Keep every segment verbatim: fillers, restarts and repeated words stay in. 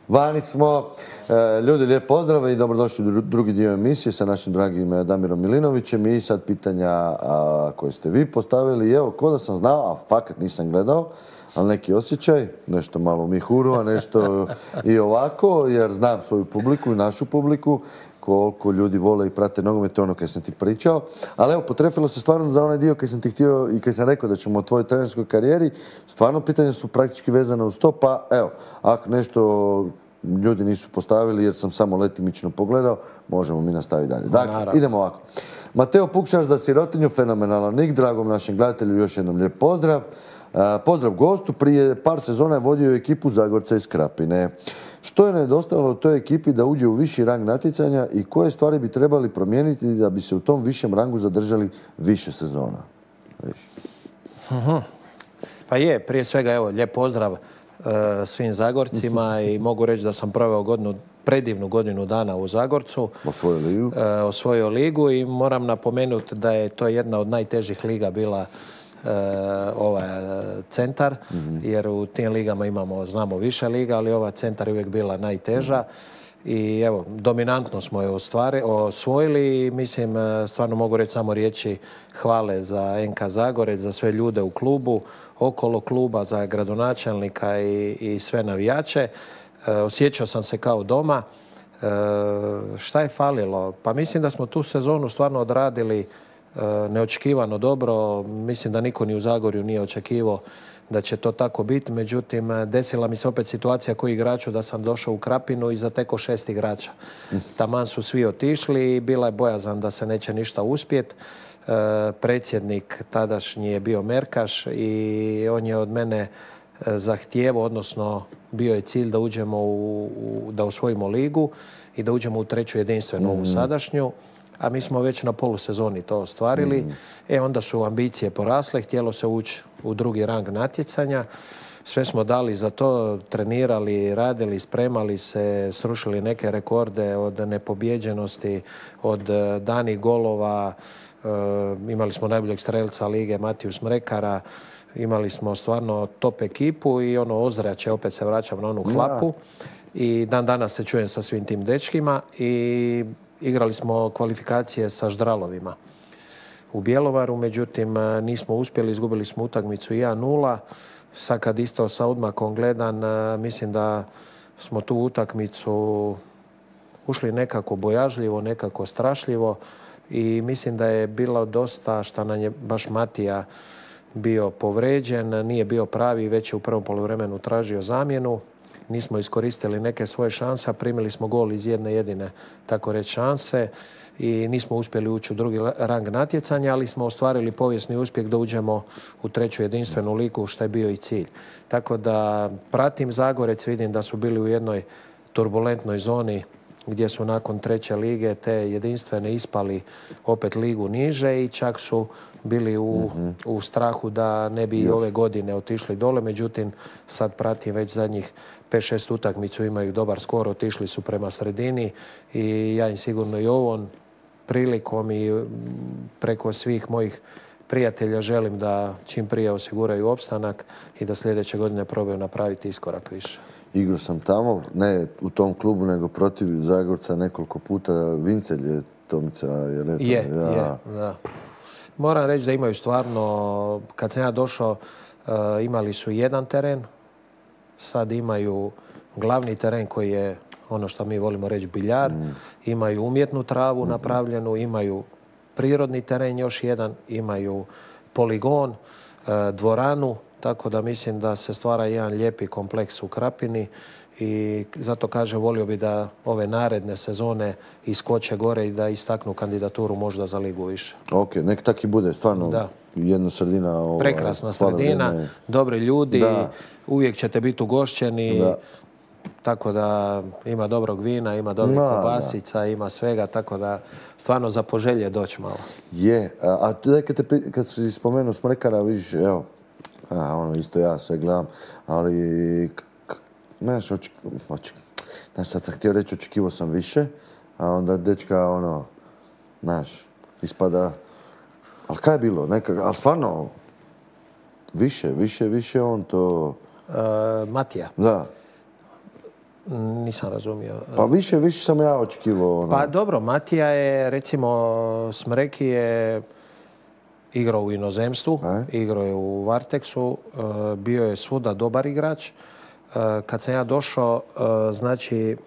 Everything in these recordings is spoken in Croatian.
Vani smo. E, ljudi, lijep pozdrav i dobrodošli u drugi dio emisije sa našim dragim Damirom Milinovićem. I sad pitanja a, koje ste vi postavili. Evo, ko da sam znao, a fakat nisam gledao, ali neki osjećaj, nešto malo u mihuru, a nešto i ovako, jer znam svoju publiku i našu publiku, koliko ljudi vole i prate nogomet, to je ono kaj sam ti pričao. Ali evo, potrefilo se stvarno za onaj dio kaj sam ti htio i kaj sam rekao da ćemo o tvojoj trenerskoj karijeri. Stvarno pitanja su praktički vezane uz to, pa evo, ako nešto ljudi nisu postavili jer sam samo letimično pogledao, možemo mi nastaviti dalje. Dakle, idemo ovako. Mateo Pukšaš za sirotinju, fenomenalan nik, dragom našem gledatelju još jednom lijep pozdrav. Pozdrav gostu, prije par sezona je vodio ekipu Zagorca iz Krapine. Što je nedostajalo toj ekipi da uđe u viši rang natjecanja i koje stvari bi trebali promijeniti da bi se u tom višem rangu zadržali više sezona? Uh-huh. Pa je, prije svega, evo, lijep pozdrav uh, svim Zagorcima i mogu reći da sam proveo godinu, predivnu godinu dana u Zagorcu. Osvojio ligu. Uh, osvojio ligu i moram napomenuti da je to jedna od najtežih liga bila Uh, ovaj centar, mm-hmm. jer u tim ligama imamo, znamo više liga, ali ova centar je uvijek bila najteža. Mm-hmm. I evo, dominantno smo je ostvari, osvojili i mislim, stvarno mogu reći samo riječi hvale za en ka Zagorec, za sve ljude u klubu, okolo kluba, za gradonačelnika i, i sve navijače. Uh, osjećao sam se kao doma. Uh, šta je falilo? Pa mislim da smo tu sezonu stvarno odradili neočekivano dobro. Mislim da niko ni u Zagorju nije očekivao da će to tako biti. Međutim, desila mi se opet situacija koji igraču da sam došao u Krapinu i zateko šest igrača. Taman su svi otišli i bila je bojazan da se neće ništa uspjeti. Predsjednik tadašnji je bio Merkaš i on je od mene zahtijevao, odnosno bio je cilj da uđemo u, u, da osvojimo ligu i da uđemo u treću jedinstvenu ovu sadašnju. A mi smo već na polusezoni to ostvarili. Mm. E, onda su ambicije porasle, htjelo se ući u drugi rang natjecanja. Sve smo dali za to, trenirali, radili, spremali se, srušili neke rekorde od nepobjeđenosti, od danih golova. E, imali smo najboljeg strelca lige Matiju Smrekara. Imali smo stvarno top ekipu i ono ozračje, opet se vraćam na onu hlapu. I dan danas se čujem sa svim tim dečkima i igrali smo kvalifikacije sa Ždralovima u Bjelovaru, međutim nismo uspjeli, izgubili smo utakmicu jedan nula. Sad kad isto sa odmakom gledan, mislim da smo tu utakmicu ušli nekako bojažljivo, nekako strašljivo i mislim da je bilo dosta što nam je baš Matija bio povređen, nije bio pravi, već je u prvom poluvremenu tražio zamjenu. Nismo iskoristili neke svoje šanse, a primili smo gol iz jedne jedine, tako reći, šanse i nismo uspjeli ući u drugi rang natjecanja, ali smo ostvarili povijesni uspjeh da uđemo u treću jedinstvenu ligu, što je bio i cilj. Tako da pratim Zagorec, vidim da su bili u jednoj turbulentnoj zoni gdje su nakon treće lige te jedinstvene ispali opet ligu niže i čak su bili u, mm-hmm. u strahu da ne bi i ove godine otišli dole. Međutim, sad pratim već zadnjih pet šest utakmicu, imaju dobar skor, otišli su prema sredini i ja im sigurno i ovom prilikom i preko svih mojih prijatelja želim da čim prije osiguraju opstanak i da sljedeće godine probaju napraviti iskorak više. Igrao sam tamo, ne u tom klubu, nego protiv Zagorca nekoliko puta. Vincelj je Tomica, je li? Je, ja. je, da. Moram reći da imaju stvarno, kad sam ja došao, uh, imali su jedan teren, sad imaju glavni teren koji je ono što mi volimo reći biljar, mm. imaju umjetnu travu mm-hmm. napravljenu, imaju prirodni teren još jedan, imaju poligon, uh, dvoranu, tako da mislim da se stvara jedan lijepi kompleks u Krapini i zato kažem, volio bi da ove naredne sezone iskoče gore i da istaknu kandidaturu možda za ligu više. Ok, nek tak i bude, stvarno da. Jedna sredina. Ova, prekrasna sredina, vreme. Dobri ljudi, da. Uvijek ćete biti ugošćeni, da. Tako da ima dobrog vina, ima dobrih no, kobasica, da. Ima svega, tako da stvarno za poželje doći malo. Je, a, a tu kad, te, kad si spomenuo Smrekara, vidiš, evo, a, ono, isto ja sve gledam, ali znaš, oček, oček, znaš, sad sam htio reći, očekivao sam više, a onda dečka, ono, znaš, ispada, ali kaj je bilo, neka, ali stvarno, više, više, više on to... Uh, Matija. Da. Nisam razumio. Pa više, više sam ja očekivao. Ono. Pa dobro, Matija je, recimo, Smreki je igrao u inozemstvu, e? igrao je u Varteksu, bio je svuda dobar igrač. Kad sam ja došao, znači,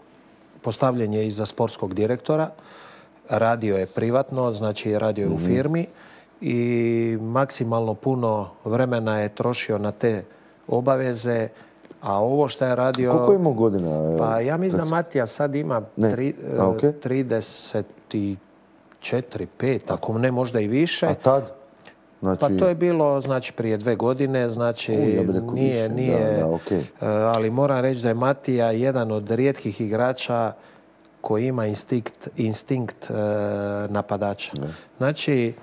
postavljen je iza sportskog direktora, radio je privatno, znači radio je u firmi i maksimalno puno vremena je trošio na te obaveze, a ovo što je radio... Koliko imao godina? Pa ja mislim da Matija sad ima tri, a, okay. trideset četiri, pet, ako ne možda i više. A tad? Znači... Pa to je bilo znači prije dve godine, znači U, ja nije, više. nije, da, da, okay. ali moram reći da je Matija jedan od rijetkih igrača koji ima instinkt, instinkt napadača. Ne. Znači,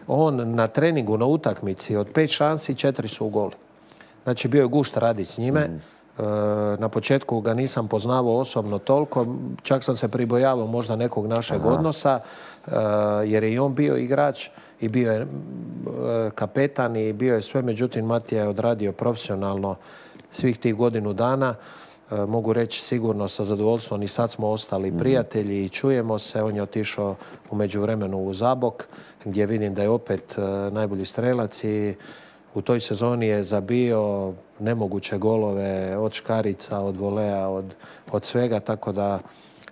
on na treningu, na utakmici, od pet šansi, četiri su u gol. Znači, bio je gušt raditi s njime. Mm. Na početku ga nisam poznavao osobno toliko, čak sam se pribojavao možda nekog našeg Aha. odnosa, jer je i on bio igrač i bio je kapetan i bio je sve, međutim Matija je odradio profesionalno svih tih godinu dana. Mogu reći sigurno sa zadovoljstvom i sad smo ostali prijatelji i čujemo se. On je otišao u međuvremenu u Zabok gdje vidim da je opet najbolji strelac i u toj sezoni je zabio nemoguće golove od škarica, od volea, od, od svega, tako da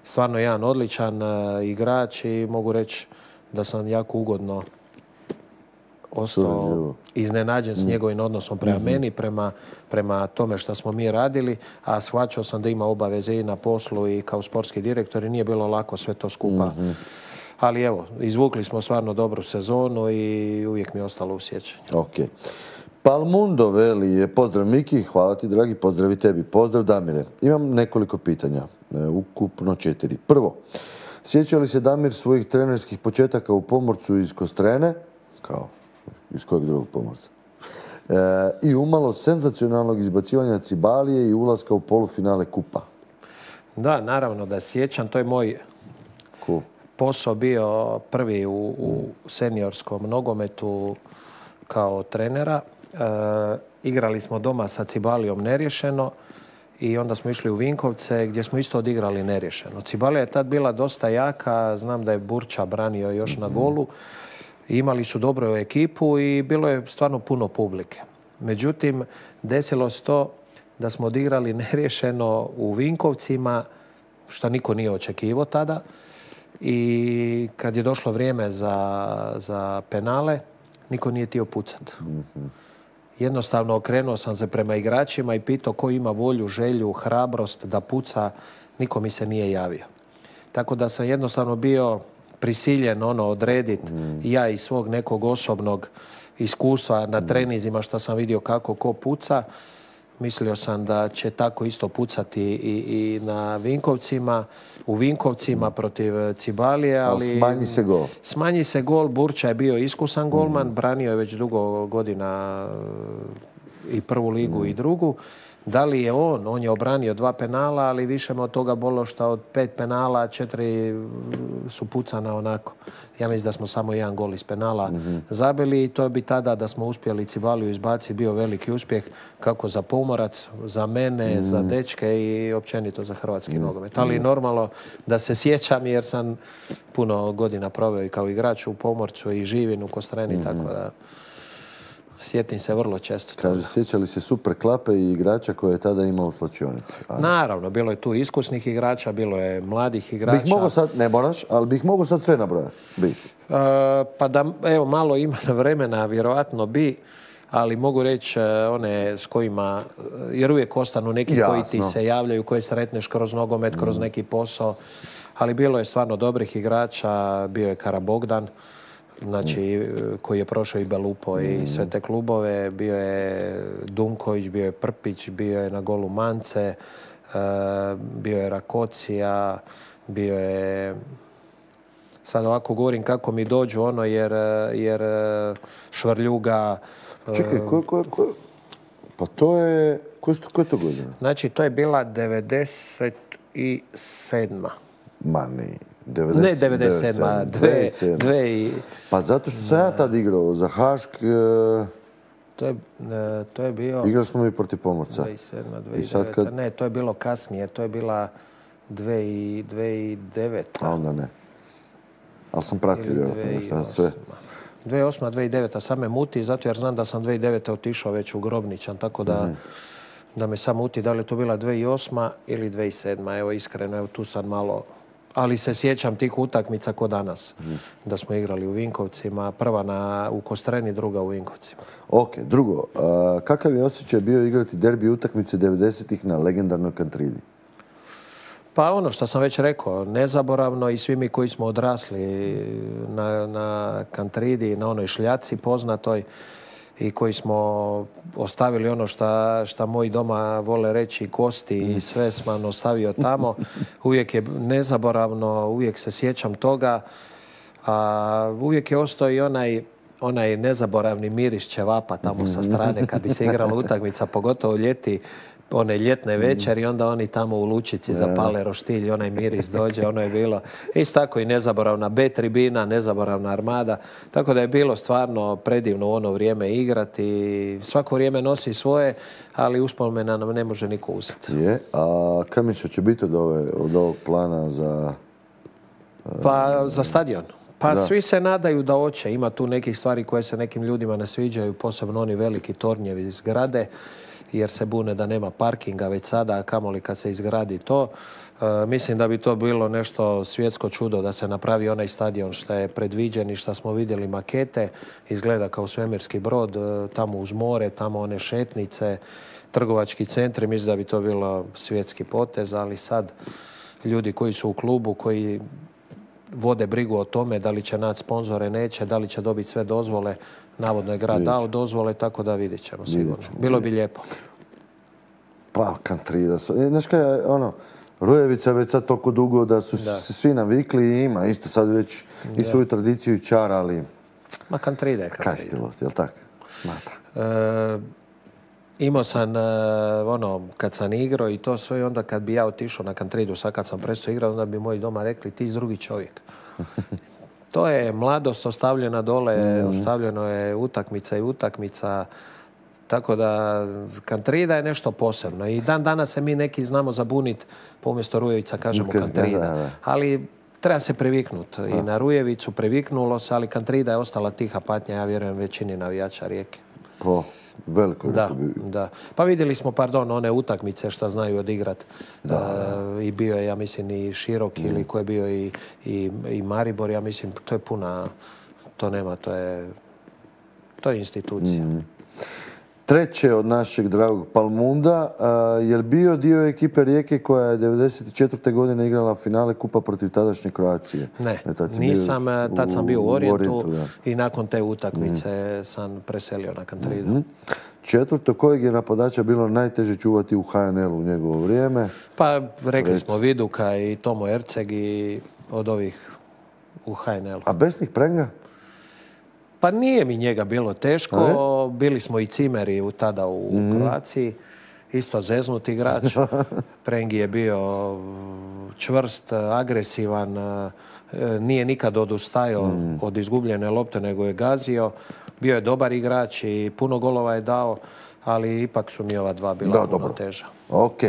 stvarno jedan odličan uh, igrač i mogu reći da sam jako ugodno ostao iznenađen s njegovim odnosom prema mm-hmm. meni, prema, prema tome što smo mi radili, a shvaćao sam da ima obaveze i na poslu i kao sportski direktor i nije bilo lako sve to skupa. Mm-hmm. Ali evo, izvukli smo stvarno dobru sezonu i uvijek mi je ostalo u sjećanju. Ok. Palmundo veli je, pozdrav Miki, hvala ti dragi, pozdrav i tebi. Pozdrav Damire. Imam nekoliko pitanja, ukupno četiri. Prvo, sjeća li se Damir svojih trenerskih početaka u Pomorcu iz Kostrene, kao iz kojeg drugog Pomorca, e, i umalo senzacionalnog izbacivanja Cibalije i ulaska u polufinale kupa? Da, naravno da sjećam, to je moj cool. posao bio prvi u, u seniorskom nogometu kao trenera. E, igrali smo doma sa Cibalijom neriješeno i onda smo išli u Vinkovce gdje smo isto odigrali neriješeno. Cibalija je tad bila dosta jaka, znam da je Burča branio još mm-hmm. na golu. Imali su dobru ekipu i bilo je stvarno puno publike. Međutim, desilo se to da smo odigrali neriješeno u Vinkovcima, što niko nije očekivao tada. I kad je došlo vrijeme za, za penale, niko nije htio pucati. Mm-hmm. Jednostavno okrenuo sam se prema igračima i pitao ko ima volju, želju, hrabrost da puca. Niko mi se nije javio. Tako da sam jednostavno bio prisiljen ono odrediti mm. ja iz svog nekog osobnog iskustva na treninzima što sam vidio kako ko puca. Mislio sam da će tako isto pucati i, i na Vinkovcima, u Vinkovcima protiv Cibalije, ali... Smanji se gol. Smanji se gol. Burča je bio iskusan golman, mm. branio je već dugo godina i prvu ligu mm. i drugu. Da li je on? On je obranio dva penala, ali više me od toga bolo što od pet penala četiri su pucana onako. Ja mislim da smo samo jedan gol iz penala mm-hmm. zabili i to bi tada da smo uspjeli Cibaliju izbaciti bio veliki uspjeh kako za Pomorac, za mene, mm. za dečke i općenito za hrvatski mm. nogomet. Ali normalno da se sjećam jer sam puno godina proveo i kao igrač u Pomorcu i živim u Kostreni, mm. tako da... Sjetim se vrlo često. Kaže, sjećali se super klape i igrača koje je tada imao u slačionici? Naravno, bilo je tu iskusnih igrača, bilo je mladih igrača. Bih mogao sad, ne moraš, ali bih mogao sad sve nabrojati. Bi. Uh, pa da, evo, malo ima vremena, vjerojatno bi, ali mogu reći one s kojima, jer uvijek ostanu neki Jasno. koji ti se javljaju, koje sretneš kroz nogomet, kroz mm. neki posao, ali bilo je stvarno dobrih igrača, bio je Karabogdan, znači, koji je prošao i Belupo i sve te klubove. Bio je Dunković, bio je Prpić, bio je na golu Mance, bio je Rakocija, bio je... Sad ovako govorim kako mi dođu ono, jer, jer Švrljuga... Čekaj, ko, ko, ko, pa to je... Koje je to godina? Znači, to je bila devedeset sedma. Ma ne... devedeset, ne devedeset sedam, dve, dve i... Pa zato što sam ja tad igrao za Hašk, To je, e, to je bio... Igrali smo mi protiv Pomorca. dvije tisuće sedma, dvije tisuće deveta. Kad... Ne, to je bilo kasnije. To je bila dvije tisuće deveta. A onda ne. Ali sam pratio vjerojatno šta sve. dvije tisuće osma, dvije tisuće deveta. Sam me muti, zato jer znam da sam dvije tisuće devete otišao već u Grobničan, tako da, mm. da me sam muti da li je to bila dvije tisuće osma ili dvije tisuće sedma. Evo, iskreno, evo, tu sad malo... Ali se sjećam tih utakmica ko danas. Mm. Da smo igrali u Vinkovcima. Prva na, u Kostreni, druga u Vinkovcima. Ok, drugo. A, kakav je osjećaj bio igrati derbi utakmice devedesetih na legendarnoj Kantridi? Pa ono što sam već rekao, nezaboravno i svi mi koji smo odrasli na, na Kantridi, na onoj šljaci poznatoj i koji smo ostavili ono šta, šta moji doma vole reći, kosti i sve sam ostavio tamo. Uvijek je nezaboravno, uvijek se sjećam toga. A uvijek je ostao i onaj, onaj nezaboravni miris ćevapa tamo sa strane kad bi se igrala utakmica, pogotovo ljeti, one ljetne večeri, onda oni tamo u Lučici zapale roštilj i onaj miris dođe, ono je bilo isto tako i nezaboravna B tribina, nezaboravna Armada, tako da je bilo stvarno predivno u ono vrijeme igrati. Svako vrijeme nosi svoje, ali uspomena nam ne može niko uzeti. Je, a kad misliš će biti od, ove, od ovog plana za... Pa za stadion. Pa da. Svi se nadaju da hoće. Ima tu nekih stvari koje se nekim ljudima ne sviđaju, posebno oni veliki tornjevi zgrade, jer se bune da nema parkinga već sada, a kamoli kad se izgradi to. E, mislim da bi to bilo nešto svjetsko čudo da se napravi onaj stadion što je predviđen i što smo vidjeli makete. Izgleda kao svemirski brod, e, tamo uz more, tamo one šetnice, trgovački centri. Mislim da bi to bilo svjetski potez, ali sad ljudi koji su u klubu, koji vode brigu o tome da li će naći sponzore, neće, da li će dobiti sve dozvole. Navodno je grad dao dozvole, tako da vidjet ćemo sigurno. Bilo bi lijepo. Pa, Kantrida. Znaš kaj, ono, Rujevica je već sad toliko dugo da su da. se svi navikli i ima isto sad već i svoju tradiciju i čar, ali... Ma Kantrida je Kantrida. Kaj stilost, jel' tako? E, imao sam, e, ono, kad sam igrao i to sve, onda kad bi ja otišao na Kantridu, sad kad sam prestao igrati, onda bi moji doma rekli ti si drugi čovjek. To je mladost ostavljena dole, mm. ostavljeno je utakmica i utakmica, tako da Kantrida je nešto posebno. I dan danas se mi neki znamo zabuniti, pa umjesto Rujevica kažemo Kantrida. Da, da. Ali treba se priviknuti. I na Rujevicu priviknulo se, ali Kantrida je ostala tiha patnja, ja vjerujem, većini navijača Rijeke. Po veliko. Da, da. Pa vidjeli smo, pardon, one utakmice što znaju odigrati. Uh, I bio je, ja mislim, i Širok mm. ili ko je bio i, i, i Maribor, ja mislim, to je puna, to nema, to je, to je institucija. Mm. Treće od našeg dragog Palmunda, uh, je li bio dio ekipe Rijeke koja je devedeset četvrte godine igrala finale kupa protiv tadašnje Kroacije? Ne, nisam, tad sam bio u Orijentu i nakon te utakmice mm. sam preselio na Kantridu. Mm-hmm. Četvrto, kojeg je napadača bilo najteže čuvati u ha en el u njegovo vrijeme? Pa rekli Reć. smo Viduka i Tomo Erceg i od ovih u ha en elu. A Besnik Prenga? Pa nije mi njega bilo teško. Bili smo i cimeri u, tada u mm-hmm. Kroaciji. Isto zeznut igrač. Prengi je bio čvrst, agresivan. Nije nikad odustajao mm. od izgubljene lopte, nego je gazio. Bio je dobar igrač i puno golova je dao, ali ipak su mi ova dva bila da, puno dobro. teža. Ok.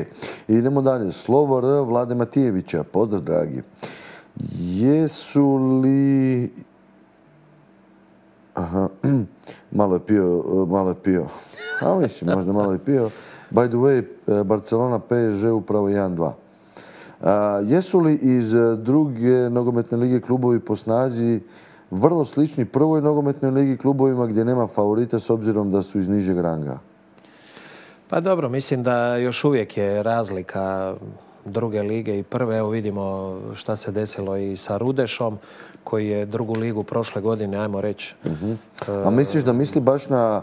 Idemo dalje. Slovo R. Vlade Matijevića. Pozdrav, dragi. Jesu li... Aha, malo je pio, malo je pio. A mislim, možda malo je pio. By the way, Barcelona P S G upravo jedan dva. Jesu li iz druge nogometne lige klubovi po snazi vrlo slični prvoj nogometnoj ligi klubovima gdje nema favorita s obzirom da su iz nižeg ranga? Pa dobro, mislim da još uvijek je razlika druge lige i prve. Evo vidimo šta se desilo i sa Rudešom, koji je drugu ligu prošle godine, ajmo reći. Uh-huh. A misliš da misli baš na...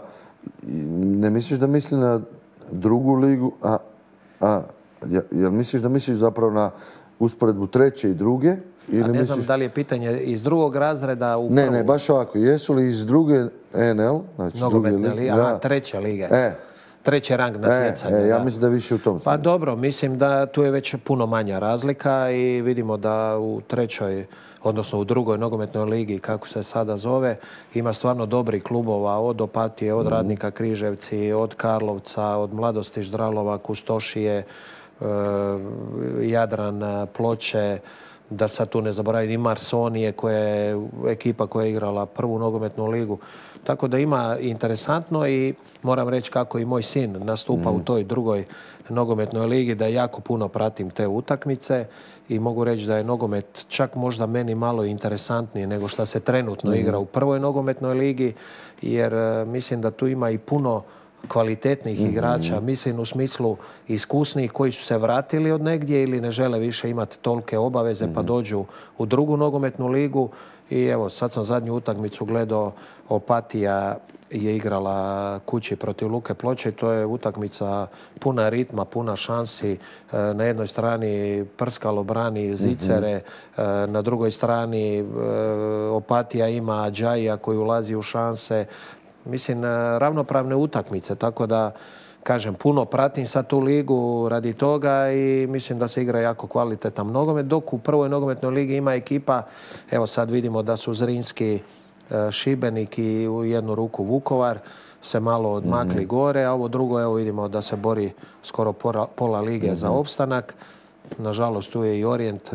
Ne misliš da misli na drugu ligu? A, a, jel misliš da misliš zapravo na usporedbu treće i druge? Ili a ne misliš... znam da li je pitanje iz drugog razreda u prvu... Ne, ne, baš ovako. Jesu li iz druge en el? Znači nogometne lige, aha, treće lige. E. treći rang natjecanja. E, e, ja da. mislim da više u tom Pa dobro, mislim da tu je već puno manja razlika i vidimo da u trećoj, odnosno u drugoj nogometnoj ligi, kako se sada zove, ima stvarno dobrih klubova, od Opatije, od Radnika Križevci, od Karlovca, od Mladosti Ždralova, Kustošije, e, Jadran, Ploče, da sad tu ne zaboravim i Marsonije, koja je ekipa koja je igrala prvu nogometnu ligu. Tako da ima interesantno i moram reći kako i moj sin nastupa mm. u toj drugoj nogometnoj ligi, da jako puno pratim te utakmice i mogu reći da je nogomet čak možda meni malo interesantniji nego što se trenutno mm. igra u prvoj nogometnoj ligi, jer uh, mislim da tu ima i puno kvalitetnih mm-hmm. igrača, mislim u smislu iskusnih koji su se vratili od negdje ili ne žele više imati tolike obaveze mm-hmm. pa dođu u drugu nogometnu ligu. I evo, sad sam zadnju utakmicu gledao, Opatija je igrala kući protiv Luke Ploče i to je utakmica puna ritma, puna šansi. Na jednoj strani Prskalo brani Zicere, mm-hmm. na drugoj strani Opatija ima Adžaija koji ulazi u šanse. Mislim, ravnopravne utakmice, tako da, kažem, puno pratim sad tu ligu radi toga i mislim da se igra jako kvalitetan nogomet, dok u prvoj nogometnoj ligi ima ekipa, evo sad vidimo da su Zrinski, Šibenik i u jednu ruku Vukovar se malo odmakli mm-hmm. gore, a ovo drugo, evo vidimo da se bori skoro pola, pola lige mm-hmm. za opstanak. Nažalost, tu je i Orient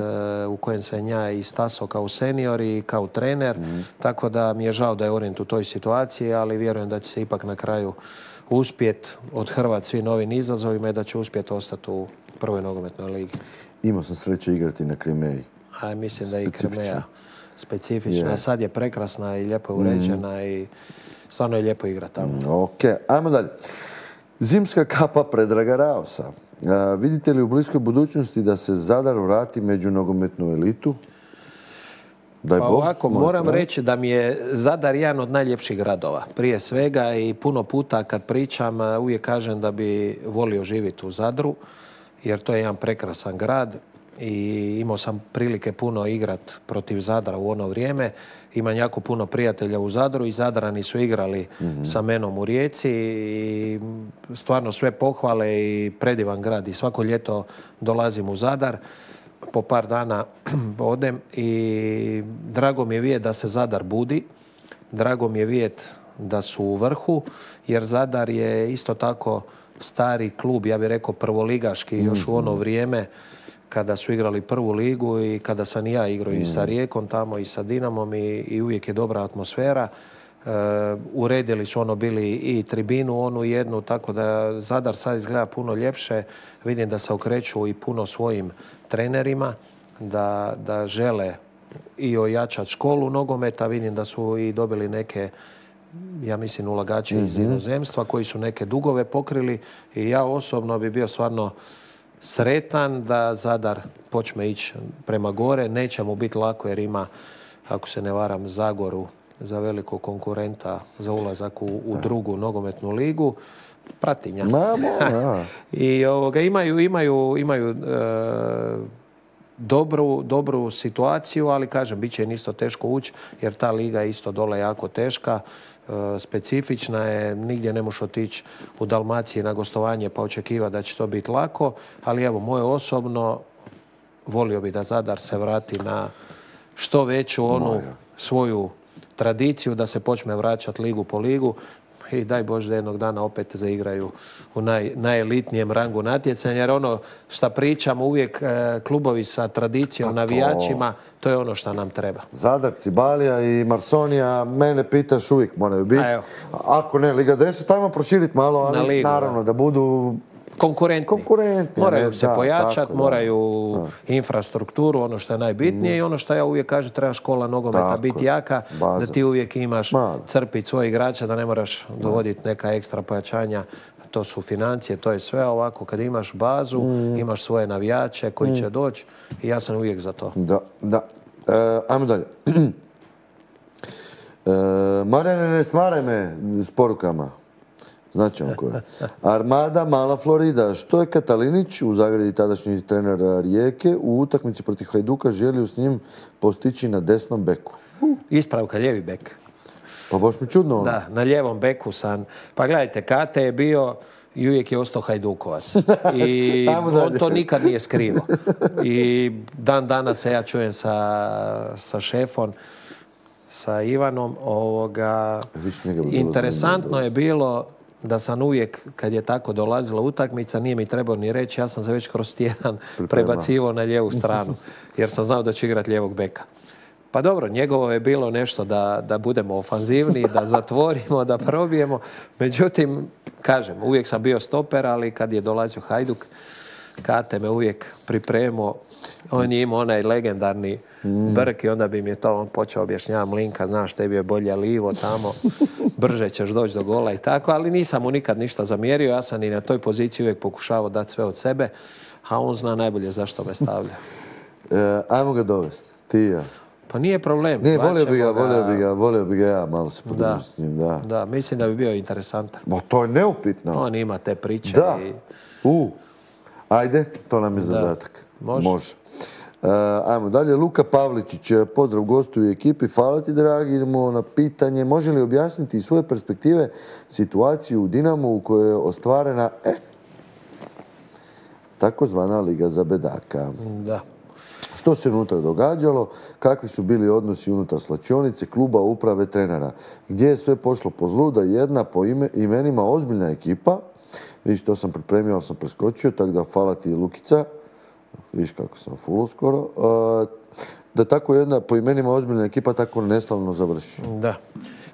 u kojem se nja i stasao kao senior i kao trener, mm-hmm. tako da mi je žao da je Orient u toj situaciji, ali vjerujem da će se ipak na kraju uspjeti odhrvati svim novim izazovima i da će uspjeti ostati u prvoj nogometnoj ligi. Imao sam sreće igrati na Krimeji. A mislim da je i Krimeja specifična. Yeah. Sad je prekrasna i lijepo uređena mm-hmm. i stvarno je lijepo igrati tamo. Mm, ok, ajmo dalje. Zimska kapa Predraga Raosa. A, vidite li u bliskoj budućnosti da se Zadar vrati među nogometnu elitu? Daj pa Bog, ovako, moram strane. reći da mi je Zadar jedan od najljepših gradova. Prije svega i puno puta kad pričam uvijek kažem da bi volio živjeti u Zadru, jer to je jedan prekrasan grad i imao sam prilike puno igrat protiv Zadra u ono vrijeme. Imam jako puno prijatelja u Zadru i Zadrani su igrali mm-hmm. sa menom u Rijeci i stvarno sve pohvale i predivan grad i svako ljeto dolazim u Zadar. Po par dana odem i drago mi je vidjeti da se Zadar budi, drago mi je vidjeti da su u vrhu, jer Zadar je isto tako stari klub, ja bih rekao prvoligaški, mm-hmm. još u ono vrijeme kada su igrali prvu ligu i kada sam i ja igrao mm-hmm. i sa Rijekom tamo i sa Dinamom i, i uvijek je dobra atmosfera. E, uredili su ono bili i tribinu onu jednu, tako da Zadar sad izgleda puno ljepše. Vidim da se okreću i puno svojim trenerima, da, da žele i ojačati školu nogometa. Vidim da su i dobili neke, ja mislim, ulagači mm-hmm. iz inozemstva koji su neke dugove pokrili i ja osobno bi bio stvarno sretan da Zadar počne ići prema gore. Neće mu biti lako jer ima, ako se ne varam, Zagoru za velikog konkurenta za ulazak u, u drugu nogometnu ligu. Pratinja. I ovoga, imaju, imaju, imaju e, dobru, dobru situaciju, ali kažem, bit će im isto teško ući jer ta liga je isto dole jako teška. E, specifična je, nigdje ne možeš otići u Dalmaciji na gostovanje pa očekivati da će to biti lako, ali evo, moje osobno volio bi da Zadar se vrati na što veću onu Moja. svoju tradiciju, da se počne vraćati ligu po ligu i daj Bože da jednog dana opet zaigraju u naj, najelitnijem rangu natjecanja, jer ono što pričamo uvijek e, klubovi sa tradicijom, to... navijačima, to je ono što nam treba. Zadar, Cibalija i Marsonija, mene pitaš, uvijek moraju biti. Ako ne Liga deset, ajmo proširiti malo, ali Na ligu, naravno da, da budu konkurentni. konkurentni. Moraju ne, se da, pojačati, tako, moraju da. infrastrukturu, ono što je najbitnije mm. i ono što ja uvijek kažem, treba škola nogometa tako, biti jaka, baza. Da ti uvijek imaš Ma. crpiti svoje igrače, da ne moraš da. dovoditi neka ekstra pojačanja. To su financije, to je sve ovako. Kad imaš bazu, mm. imaš svoje navijače koji mm. će doći i ja sam uvijek za to. Da, da. E, ajmo dalje. e, Marijane, ne smaraj me s porukama. Znači on ko je. Armada, Mala Florida. Što je Katalinić, u zagradi tadašnji trener Rijeke, u utakmici protiv Hajduka želio s njim postići na desnom beku? Uh. Ispravka, lijevi bek. Pa baš mi čudno. Da, na lijevom beku sam. Pa gledajte, Kate je bio i uvijek je ostao Hajdukovac. I on to nikad nije skrivo. I dan danas se ja čujem sa, sa šefom, sa Ivanom. Ovoga, interesantno je bilo da sam uvijek, kad je tako dolazila utakmica, nije mi trebao ni reći, ja sam se već kroz tjedan prebacivao na lijevu stranu, jer sam znao da će igrati lijevog beka. Pa dobro, njegovo je bilo nešto da, da budemo ofanzivni, da zatvorimo, da probijemo. Međutim, kažem, uvijek sam bio stoper, ali kad je dolazio Hajduk, Kate me uvijek pripremio. On je imao onaj legendarni mm. brk i onda bi mi je to on počeo objašnjavati, Mlinka, znaš, tebi je bolje livo tamo, brže ćeš doći do gola i tako, ali nisam mu nikad ništa zamjerio. Ja sam i na toj poziciji uvijek pokušavao dati sve od sebe, a on zna najbolje zašto me stavlja. E, ajmo ga dovesti, ti i ja. Pa nije problem. Ne, volio bi ga, volio bi ga, volio bi ga ja malo se podružiti s njim, da. Da, mislim da bi bio interesantan. Bo, to je neupitno. On ima te priče. Da. I... U. Ajde, to nam je zadatak. Može. Može. Uh, ajmo dalje. Luka Pavličić, pozdrav gostu i ekipi. Hvala ti, dragi. Idemo na pitanje. Može li objasniti iz svoje perspektive situaciju u Dinamu u kojoj je ostvarena eh, takozvana Liga za bedaka? Da. Što se unutra događalo, kakvi su bili odnosi unutar slačionice, kluba, uprave, trenera. Gdje je sve pošlo po zlu da jedna po ime, imenima ozbiljna ekipa, vidiš, to sam pripremio, ali sam preskočio, tako da hvala ti Lukica, vidiš kako sam fulo skoro, da tako jedna po imenima ozbiljna ekipa tako neslavno završi. Da,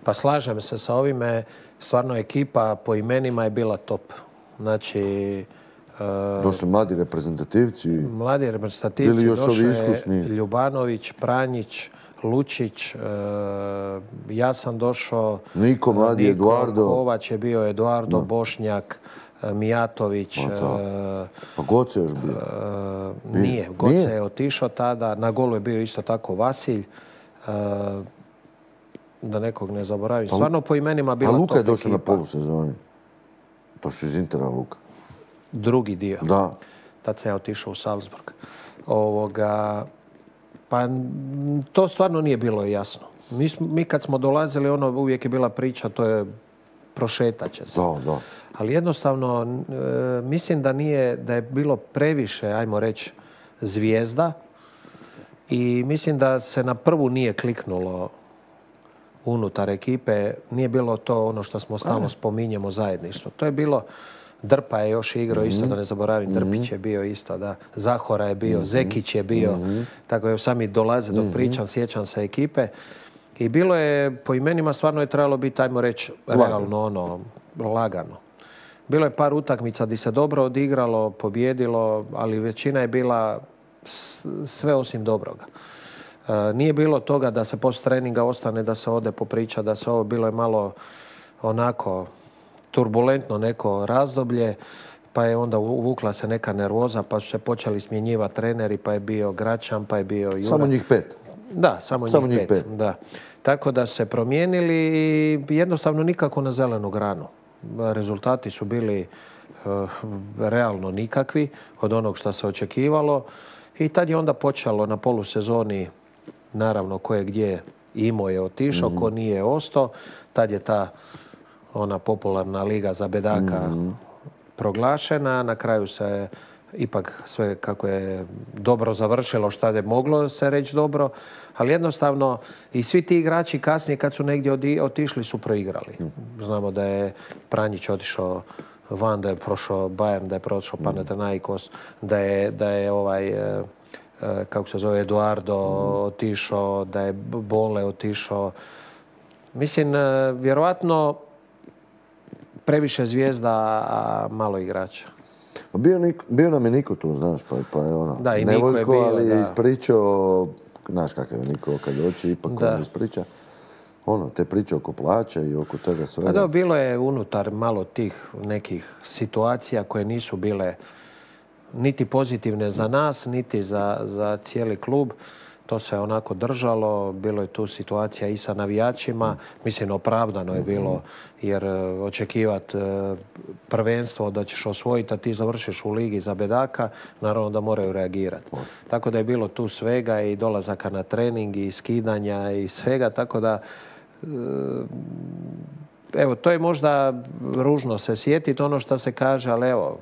pa slažem se sa ovime, stvarno ekipa po imenima je bila top. Znači, došli mladi reprezentativci. Mladi reprezentativci, došao je Ljubanović, Pranjić, Lučić, e, ja sam došao... Niko, mladi Niko, Eduardo. Kovač je bio Eduardo, da. Bošnjak, Mijatović. Pa, e, pa Goce još bio. E, nije, Goce nije. je otišao tada. Na golu je bio isto tako Vasilj. E, da nekog ne zaboravim. Stvarno po imenima bila top ekipa. A Luka je došao na polusezoni. Došao iz Intera Luka. Drugi dio. Da. Tad sam ja otišao u Salzburg. Ovoga, pa to stvarno nije bilo jasno. Mi, mi kad smo dolazili, ono uvijek je bila priča, to je prošetat će se. Da, da. Ali jednostavno, e, mislim da nije, da je bilo previše, ajmo reći, zvijezda i mislim da se na prvu nije kliknulo unutar ekipe. Nije bilo to ono što smo stalno spominjemo, zajedništvo. To je bilo... Drpa je još igrao isto, da ne zaboravim, Drpić je bio isto, da. Zahora je bio, Zekić je bio, tako je sami dolaze dok pričam, sjećam se ekipe. I bilo je, po imenima stvarno je trebalo biti, ajmo reći, realno ono, lagano. Bilo je par utakmica gdje se dobro odigralo, pobjedilo, ali većina je bila sve osim dobroga. Nije bilo toga da se post treninga ostane, da se ode popriča, da se ovo, bilo je malo onako... turbulentno neko razdoblje, pa je onda uvukla se neka nervoza, pa su se počeli smjenjivati treneri, pa je bio Gračan, pa je bio Jura. Samo njih pet? Da, samo, samo njih, njih pet. pet. Da. Tako da su se promijenili i jednostavno nikako na zelenu granu. Rezultati su bili uh, realno nikakvi od onog što se očekivalo i tad je onda počelo na polusezoni, naravno ko je gdje imao je otišao, mm-hmm. ko nije ostao, tad je ta ona popularna liga za bedaka mm-hmm. proglašena. Na kraju se ipak sve kako je dobro završilo, šta je moglo se reći dobro, ali jednostavno i svi ti igrači kasnije kad su negdje otišli su proigrali. Mm-hmm. Znamo da je Pranjić otišao van, da je prošao Bayern, da je prošao Panathinaikos, da je, da je ovaj, kako se zove, Eduardo mm-hmm. otišao, da je Bole otišao. Mislim, vjerovatno previše zvijezda, a malo igrača. Bio, Niko, bio nam je Niko tu, znaš, pa, pa je ono... Da, i Niko je bio, ali da. je ispričao, znaš kakav je Niko kad doći, ipak da. on ispriča. Ono, te priče oko plaća i oko toga svega. Pa da, bilo je unutar malo tih nekih situacija koje nisu bile niti pozitivne za nas, niti za, za cijeli klub. To se onako držalo, bilo je tu situacija i sa navijačima, mislim opravdano je bilo jer očekivati prvenstvo da ćeš osvojiti, a ti završiš u ligi za bedaka, naravno da moraju reagirati. Tako da je bilo tu svega i dolazaka na trening i skidanja i svega, tako da evo, to je možda ružno se sjetiti ono što se kaže, ali evo...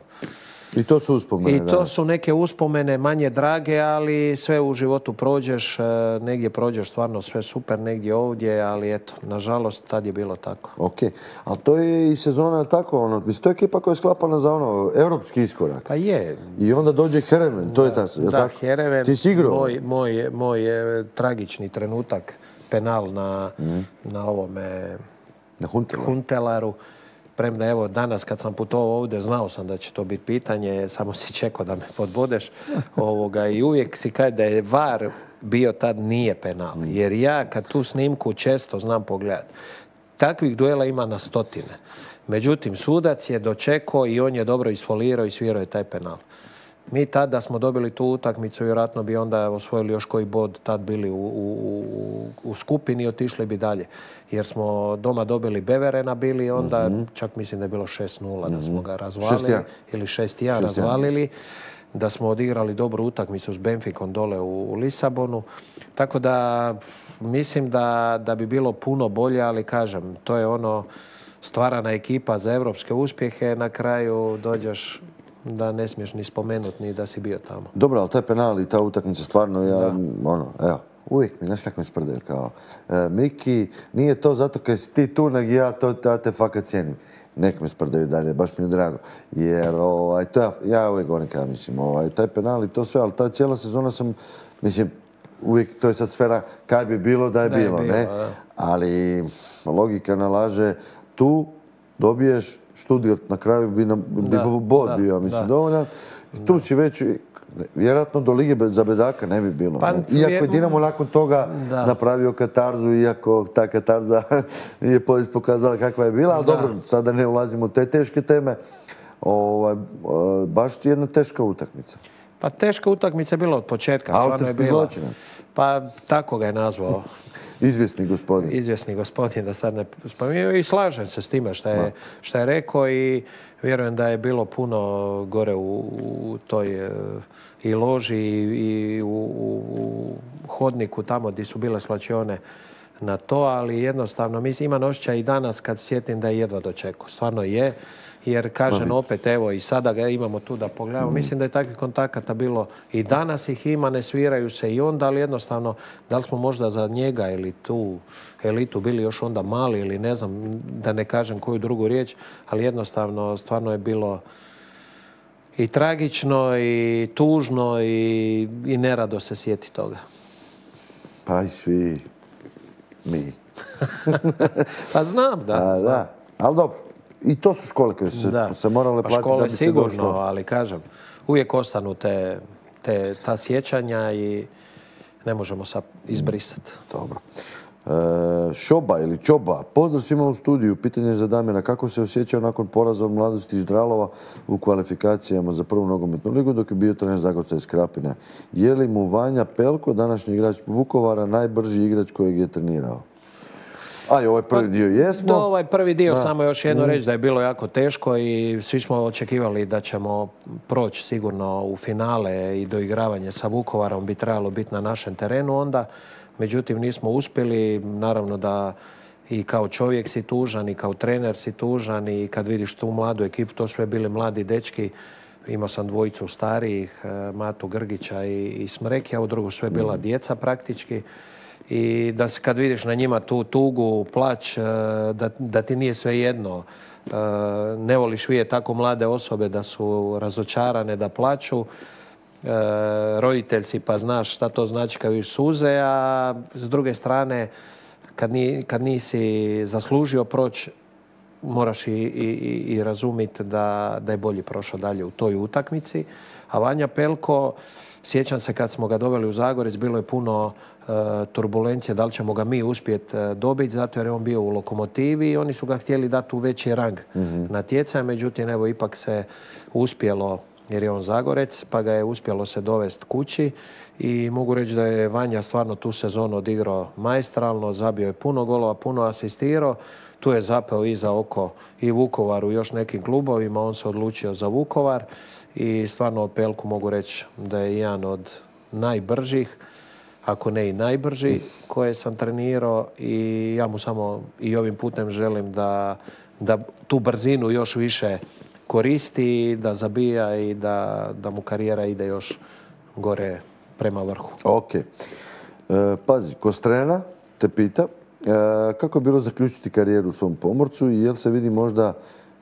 I to su uspomene. I to su neke uspomene manje drage, ali sve u životu prođeš, negdje prođeš stvarno sve super, negdje ovdje, ali eto, nažalost, tad je bilo tako. Ok, ali to je i sezona tako, ono, mislim, to je ekipa koja je sklapana za ono, europski iskorak. Pa je. I onda dođe Heerenveen, to je ta, da, tako? Heerenveen, ti si igrao? Moj, moj, moj tragični trenutak, penal na, mm. na ovome na Huntelaru. Huntelaru. Premda evo danas kad sam putovao ovdje znao sam da će to biti pitanje, samo si čekao da me podbodeš ovoga, i uvijek si kaže da je V A R bio tad nije penal. Jer ja kad tu snimku često znam pogledati. Takvih duela ima na stotine. Međutim, sudac je dočekao i on je dobro isfolirao i svirao je taj penal. Mi tad da smo dobili tu utakmicu, vjerojatno bi onda osvojili još koji bod, tad bili u, u, u skupini i otišli bi dalje. Jer smo doma dobili Beverena bili, onda mm-hmm. čak mislim da je bilo šest nula da smo ga razvalili. šest jedan ili šest jedan razvalili. Da smo odigrali dobru utakmicu s Benficom dole u, u Lisabonu. Tako da mislim da, da bi bilo puno bolje, ali kažem, to je ono stvarana ekipa za evropske uspjehe, na kraju dođeš da ne smiješ ni spomenuti ni da si bio tamo. Dobro, ali taj penal i ta utakmica stvarno, ja, da. ono, evo, uvijek mi, znaš kako mi sprdaju, kao, e, Miki, nije to zato kad si ti tu, nego ja to, ja te fakat cijenim. Nek me sprdaju dalje, baš mi je drago. Jer, ovaj, to ja, ja uvijek govorim kada mislim, ovaj, taj penal i to sve, ali ta cijela sezona sam, mislim, uvijek, to je sad sfera kaj bi bilo da je da bilo, je bilo, ne? Da. Ali logika nalaže, tu dobiješ Stuttgart, na kraju bi nam bi bod da, bio, mislim, da. dovoljan. Tu da. si već, vjerojatno do Lige za bedaka ne bi bilo. Pa, ne? Iako je Dinamo nakon toga da. napravio katarzu, iako ta katarza je pokazala kakva je bila, ali da. dobro, sada ne ulazimo u te teške teme. Ovaj, baš jedna teška utakmica. Pa teška utakmica je bila od početka. Autorski zločinac. Pa tako ga je nazvao. Izvjesni gospodin. Izvjesni gospodin, da sad ne spominju. I slažem se s time što je, što je rekao i vjerujem da je bilo puno gore u, u toj i loži i u, u hodniku tamo gdje su bile svlačione na to, ali jednostavno mislim, imam osjećaj i danas kad sjetim da je jedva dočekao. Stvarno je. Jer kažem opet, evo i sada ga imamo tu da pogledamo. Mislim da je takvih kontakata bilo i danas ih ima, ne sviraju se i onda, ali jednostavno, da li smo možda za njega ili tu elitu bili još onda mali ili ne znam, da ne kažem koju drugu riječ, ali jednostavno stvarno je bilo i tragično i tužno i, i nerado se sjeti toga. Pa i svi mi. Pa znam, da. A, znam. da. Ali dobro. I to su škole koje su se, se morale platiti pa da bi se sigurno, došlo. Ali kažem, uvijek ostanu te, te, ta sjećanja i ne možemo sad izbrisati. Dobro. E, Šoba ili Čoba, pozdrav svima u studiju. Pitanje za Damjana, kako se osjećao nakon poraza od Mladosti iz Dralova u kvalifikacijama za prvu nogometnu ligu dok je bio trener Zagorca iz Krapine? Je li mu Vanja Pelko, današnji igrač Vukovara, najbrži igrač kojeg je trenirao? A i ovaj prvi dio jesmo. Do ovaj prvi dio, da. Samo još jedno mm. reći da je bilo jako teško i svi smo očekivali da ćemo proći sigurno u finale i doigravanje sa Vukovarom bi trebalo biti na našem terenu onda. Međutim, nismo uspjeli. Naravno da i kao čovjek si tužan i kao trener si tužan i kad vidiš tu mladu ekipu, to sve bili mladi dečki. Imao sam dvojicu starijih, Matu Grgića i, i Smrekija, u drugu sve bila mm. djeca praktički. I da se kad vidiš na njima tu tugu, plać, da, da ti nije sve jedno. Ne voliš vidjeti tako mlade osobe da su razočarane, da plaću. Roditelj si pa znaš šta to znači kad vidiš suze, a s druge strane kad, ni, kad nisi zaslužio proći, moraš i, i, i razumjeti da, da je bolje prošao dalje u toj utakmici. A Vanja Pelko, sjećam se kad smo ga doveli u Zagorec, bilo je puno uh, turbulencije, da li ćemo ga mi uspjeti uh, dobiti, zato jer je on bio u Lokomotivi i oni su ga htjeli dati u veći rang mm-hmm. natjecanja, međutim, evo, ipak se uspjelo, jer je on Zagorec, pa ga je uspjelo se dovesti kući i mogu reći da je Vanja stvarno tu sezonu odigrao maestralno, zabio je puno golova, puno asistirao, tu je zapeo i za oko i Vukovaru, još nekim klubovima, on se odlučio za Vukovar. I stvarno o Pelku mogu reći da je jedan od najbržih, ako ne i najbrži koje sam trenirao i ja mu samo i ovim putem želim da, da tu brzinu još više koristi, da zabija i da, da mu karijera ide još gore prema vrhu. Ok. E, pazi, Kostrena te pita e, kako je bilo zaključiti karijeru u svom Pomorcu i jel se vidi možda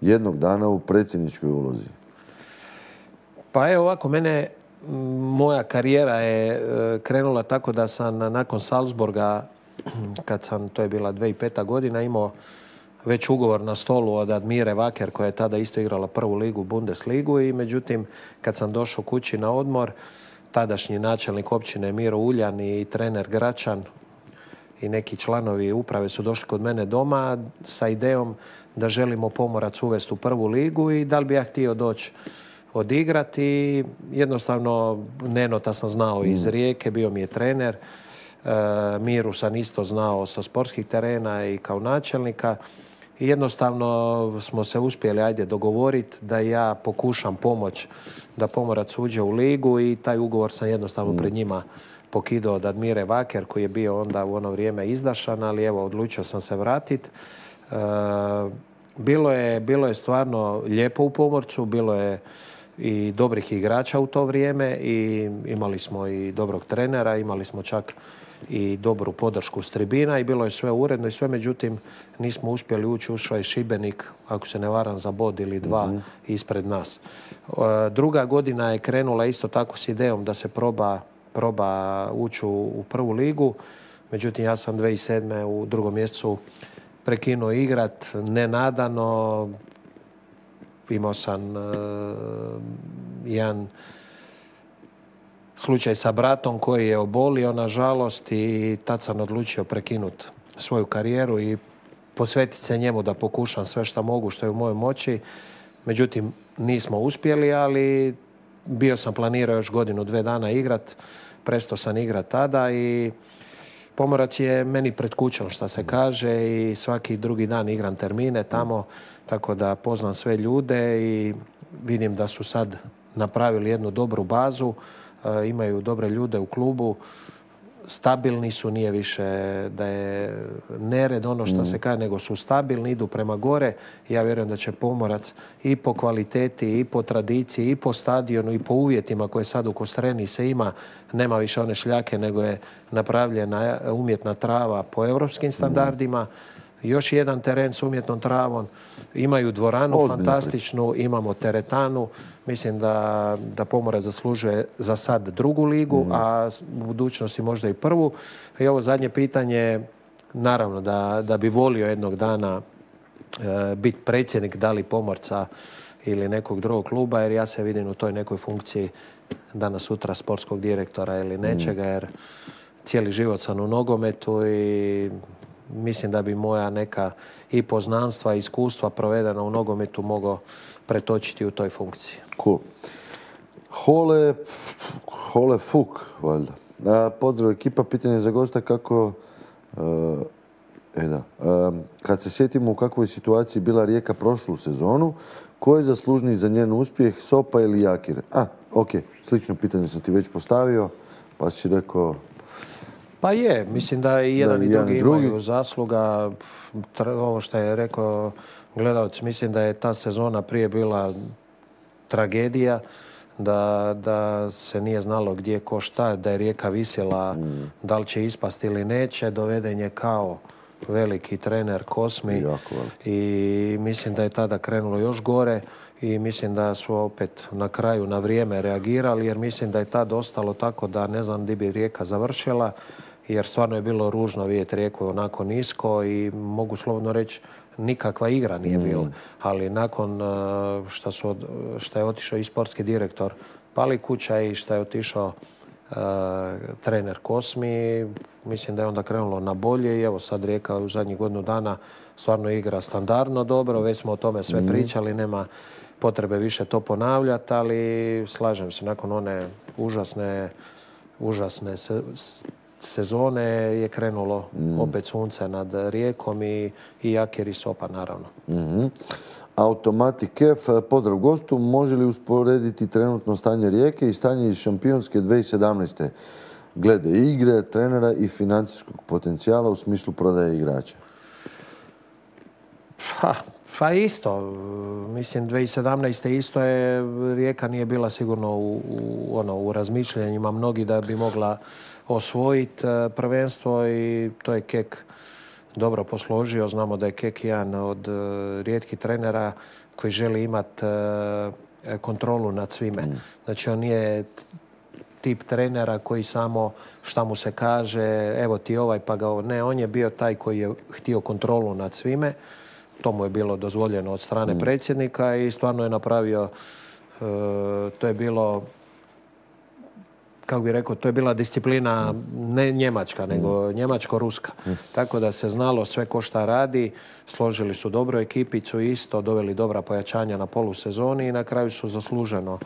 jednog dana u predsjedničkoj ulozi? Pa evo ovako, mene moja karijera je krenula tako da sam nakon Salzburga, kad sam, to je bila dvije tisuće peta godina, imao već ugovor na stolu od Admire Wacker, koja je tada isto igrala prvu ligu, Bundesligu, i međutim, kad sam došao kući na odmor, tadašnji načelnik općine Miro Uljan i trener Gračan i neki članovi uprave su došli kod mene doma sa idejom da želimo Pomorac uvesti u prvu ligu i da li bi ja htio doći odigrati. Jednostavno, Nenota sam znao iz Rijeke, bio mi je trener. E, Miru sam isto znao sa sportskih terena i kao načelnika. I jednostavno smo se uspjeli ajde dogovoriti da ja pokušam pomoć da Pomorac uđe u ligu i taj ugovor sam jednostavno mm. pred njima pokidao od Admire Wacker, koji je bio onda u ono vrijeme izdašan, ali evo, odlučio sam se vratiti. E, bilo je, bilo je stvarno lijepo u Pomorcu, bilo je i dobrih igrača u to vrijeme i imali smo i dobrog trenera, imali smo čak i dobru podršku s tribina i bilo je sve uredno i sve, međutim nismo uspjeli ući, ušao je Šibenik, ako se ne varam, za bod ili dva mm-hmm. ispred nas. Druga godina je krenula isto tako s idejom da se proba, proba ući u, u prvu ligu, međutim ja sam dvije tisuće sedme u drugom mjesecu prekinuo igrat, nenadano. Imao sam uh, jedan slučaj sa bratom koji je obolio, nažalost, i tad sam odlučio prekinuti svoju karijeru i posvetiti se njemu da pokušam sve što mogu, što je u mojoj moći. Međutim, nismo uspjeli, ali bio sam planirao još godinu, dve dana igrat. Prestao sam igrat tada i Pomorac je meni pred kućom, što se kaže, i svaki drugi dan igram termine tamo, tako da poznam sve ljude i vidim da su sad napravili jednu dobru bazu, e, imaju dobre ljude u klubu, stabilni su, nije više da je nered ono što mm. se kaže, nego su stabilni, idu prema gore. Ja vjerujem da će Pomorac i po kvaliteti, i po tradiciji, i po stadionu, i po uvjetima koje sad u Kostreni se ima, nema više one šljake, nego je napravljena umjetna trava po europskim standardima. Mm. Još jedan teren s umjetnom travom. Imaju dvoranu Ozbiljno. fantastičnu, imamo teretanu. Mislim da, da Pomorac zaslužuje za sad drugu ligu, mm. a u budućnosti možda i prvu. I ovo zadnje pitanje, naravno da, da bi volio jednog dana e, biti predsjednik da li Pomorca ili nekog drugog kluba, jer ja se vidim u toj nekoj funkciji danas sutra sportskog direktora ili nečega, jer cijeli život sam u nogometu i mislim da bi moja neka i poznanstva i iskustva provedena u nogometu mogao pretočiti u toj funkciji. Cool. Hole, Hole Fuk, valjda. A, pozdrav ekipa, pitanje za gosta kako... Uh, e da, uh, kad se sjetimo u kakvoj situaciji bila Rijeka prošlu sezonu, ko je zaslužniji za njen uspjeh, Sopa ili Jakir? A, ok, slično pitanje sam ti već postavio, pa si rekao... Pa je, mislim da i jedan da, i drugi, drugi imaju zasluga. Ovo što je rekao gledalac, mislim da je ta sezona prije bila tragedija, da, da se nije znalo gdje ko šta, da je Rijeka visjela mm. da li će ispasti ili neće. Doveden je kao veliki trener Kosmi i mislim da je tada krenulo još gore i mislim da su opet na kraju na vrijeme reagirali, jer mislim da je tad ostalo tako da ne znam gdje bi Rijeka završila, jer stvarno je bilo ružno vidjeti Rijeku onako nisko i mogu slobodno reći nikakva igra nije bila. Mm. Ali nakon što, su, što je otišao i sportski direktor Palikuća i što je otišao uh, trener Kosmi, mislim da je onda krenulo na bolje i evo sad Rijeka u zadnjih godinu dana stvarno igra standardno dobro, već smo o tome sve mm. pričali, nema potrebe više to ponavljati, ali slažem se, nakon one užasne, užasne se, sezone je krenulo mm. opet sunce nad Rijekom i, i Jakir i Sopa, naravno. Mm-hmm. Automati Kef, pozdrav gostu, može li usporediti trenutno stanje Rijeke i stanje iz šampionske dvije tisuće sedamnaeste? glede igre, trenera i financijskog potencijala u smislu prodaje igrača? Ha, pa isto. Mislim, dvije tisuće sedamnaeste. isto je, Rijeka nije bila sigurno u, u, ono, u razmišljanjima mnogi da bi mogla osvojiti prvenstvo i to je Kek dobro posložio. Znamo da je Kek jedan od rijetkih trenera koji želi imati kontrolu nad svime. Mm. Znači, on nije tip trenera koji samo šta mu se kaže, evo ti ovaj pa ga... Ne, on je bio taj koji je htio kontrolu nad svime. To mu je bilo dozvoljeno od strane mm. predsjednika i stvarno je napravio, e, to je bilo, kako bi rekao, to je bila disciplina mm. ne njemačka, nego mm. njemačko-ruska. Mm. Tako da se znalo sve ko šta radi, složili su dobru ekipicu isto, doveli dobra pojačanja na polusezoni i na kraju su zasluženo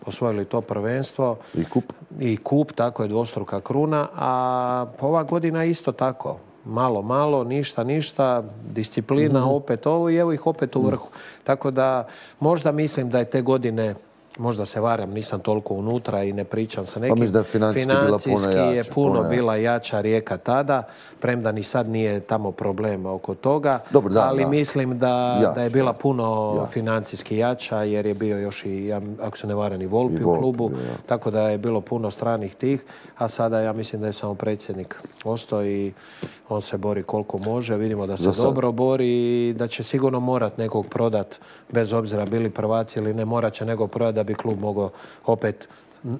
osvojili to prvenstvo. I kup. I kup, tako je dvostruka kruna, a ova godina isto tako. Malo, malo, ništa, ništa, disciplina, mm-hmm. opet ovo i evo ih opet u vrhu. Mm. Tako da možda mislim da je te godine, možda se varam, nisam toliko unutra i ne pričam sa nekim. Pa mislim da je financijski, financijski bila je jača, puno puno bila jača Rijeka tada, premda ni sad nije tamo problema oko toga. Dobro, da, ali da. mislim da, jača, da je bila puno jača. financijski jača jer je bio još i, ako se ne varam, i Volpi, I u klubu. Volpi, ja. Tako da je bilo puno stranih tih, a sada ja mislim da je samo predsjednik ostao i on se bori koliko može. Vidimo da se dobro bori i da će sigurno morat nekog prodat, bez obzira bili prvaci ili ne, morat će nekog prodat da bi klub mogao opet,